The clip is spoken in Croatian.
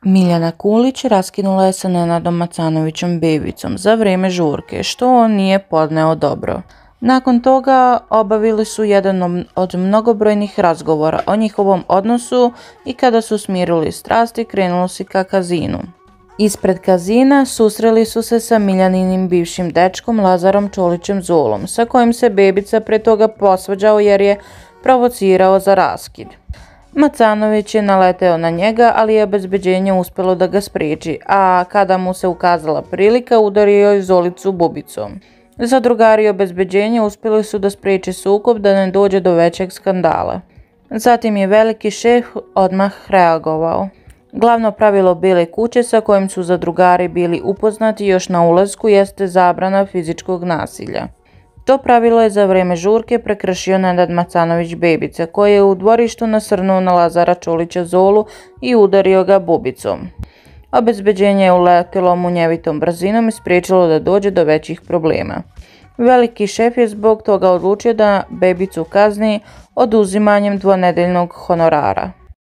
Miljana Kulić raskinula je sa Nenadom Macanovićem Bebicom za vrijeme žurke, što on nije podneo dobro. Nakon toga obavili su jedan od mnogobrojnih razgovora o njihovom odnosu i kada su smirili strasti krenulo se ka kazinu. Ispred kazina susreli su se sa Miljaninim bivšim dečkom Lazarom Čolićem Zulom, sa kojim se Bebica pre toga posvađao jer je provocirao za raskid. Macanović je naleteo na njega, ali je obezbeđenje uspjelo da ga spriječi, a kada mu se ukazala prilika udario je Zolicu bubicom. Zadrugari obezbeđenja uspjeli su da spriječe sukob da ne dođe do većeg skandala. Zatim je veliki šef odmah reagovao. Glavno pravilo Bijele kuće sa kojim su zadrugari bili upoznati još na ulasku jeste zabrana fizičkog nasilja. To pravilo je za vrijeme žurke prekršio Nenad Macanović Bebica, koji je u dvorištu nasrnuo na Lazara Čolića Zolu i udario ga bubicom. Obezbeđenje je uletilo munjevitom brzinom i spriječilo da dođe do većih problema. Veliki šef je zbog toga odlučio da Bebicu kazni oduzimanjem dvonedeljnog honorara.